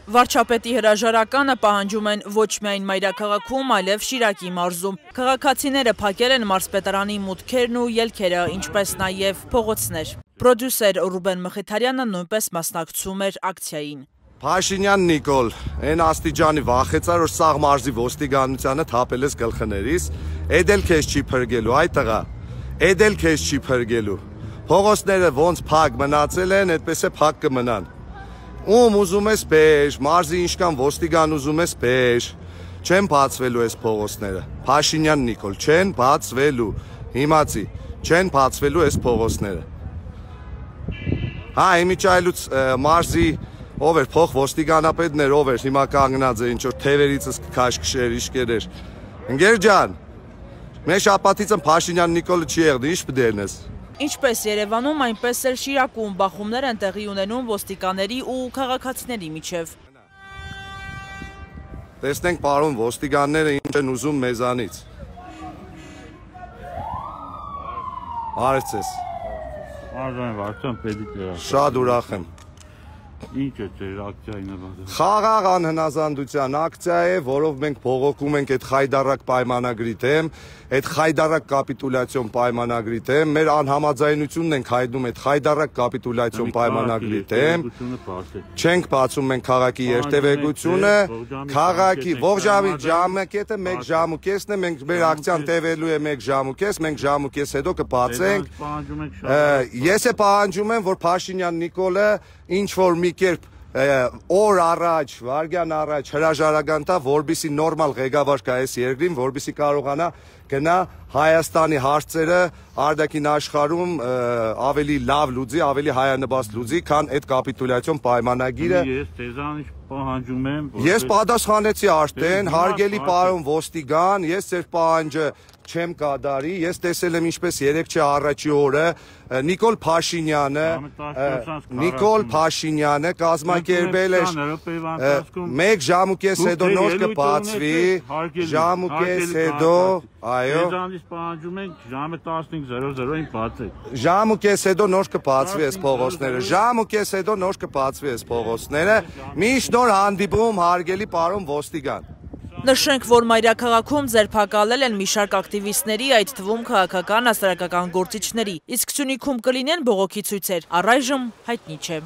Վարչապետի հրաժարականը պահանջում են ոչ միայն մայրաքաղաքում, այլև Շիրակի մարզում։ Քաղաքացիները փակել են մարզպետարանի մուտքերն ու ելքերը, ինչպես նաև փողոցներ։ Պրոդյուսեր Ռուբեն Մխիթարյանը նույնպես մասնակցում էր ակցիային։ Փաշինյան Նիկոլ, այն աստիճանի վախեցար, որ սաղ մարզի ոստիկանությանը թափել ես գլխներիս, էդ էլ քեզ չի փրկելու, այ տղա, էդ էլ քեզ չի փրկելու։ Փողոցները ոնց փակ մնացել են, այդպես է փակ կմնան։ Ում ուզում ես բեր, մարզի ինչքան ոստիգան ուզում ես բեր, չեն բացվելու այս փողոցները։ Փաշինյան Նիկոլ, չեն բացվելու, հիմացի, չեն բացվելու այս փողոցները։ Հա, իմիջայլուց մարզի ով էր փող ոստիգանապետն էր, ով էր, հիմա կանգնած է, ինչ որ թևերիցս քաշքշեր, իշկերեր։ Ընկեր ջան, մեր շաբաթիցը Փաշինյան Նիկոլը չի եղել, ինչ պդերնես։ Ինչպես Երևանում, այնպես էլ Շիրակում բախումներ են տեղի ունենում ոստիկաների ու քաղաքացիների միջև։ Տեսնենք պարոն ոստիկանները ինչ են ուզում մեզանից։ Արեցես։ Վարչան պետք է։ Շատ ուրախ եմ։ Ինչ է ձեր ակցիայի նպատակը։ Խաղաղ անհնազանդության ակցիա է, որով մենք բողոքում ենք այդ խայդարակ պայմանագրի դեմ, այդ խայդարակ կապիտուլյացիոն պայմանագրի դեմ, մեր անհամաձայնությունն ենք հայտնում այդ խայդարակ կապիտուլյացիոն պայմանագրի դեմ, չենք բացում մենք քաղաքի երթևեկությունը, քաղաքի ողջամի ժամկետը 1 ժամ ու կեսն է, մենք մեր ակցիան տևելու է 1 ժամ ու կես, մենք ժամ ու կես հետո կբացենք։ Ես է պահանջում եմ, որ Փաշինյան Նիկոլը ինչ որ մի կերպ օր առաջ, վարգյան առաջ հրաժարական տա, որպեսզի նորմալ ղեկավար կա այս երկրին, որպեսզի կարողանա գնա Հայաստանի հարցերը արտաքին աշխարհում ավելի լավ լուծի, ավելի հայանպաստ լուծի, քան այդ կապիտուլյացիոն պայմանագիրը։ Ես ձեզանից պահանջում եմ։ Ես պատասխանեցի արդեն, հարգելի պարոն ոստիգան, ես ձեր պահանջը չեմ կատարի, ես տեսել եմ ինչպես 3 առաջի օրը Նիկոլ Փաշինյանը կազմակերպել էր 1 ժամ ու կես հետո նոր կբացվի, ժամ ու կես հետո, այո, ձեզանից պահանջում ենք ժամը 15:00-ին բացեք։ Ժամ ու կես հետո նոր կբացվի այս փողոցները, ժամ ու կես հետո նոր կբացվի այս փողոցները, միշտ նոր հանդիպում հարգելի պարոն ոստիգան։ Նշենք, որ մայրաքաղաքում ձերբակալել են մի շարք ակտիվիստների, այդ թվում քաղաքական հասարակական գործիչների, իսկ Սյունիքում կլինեն բողոքի ցույցեր, առայժմ հայտնի չէ։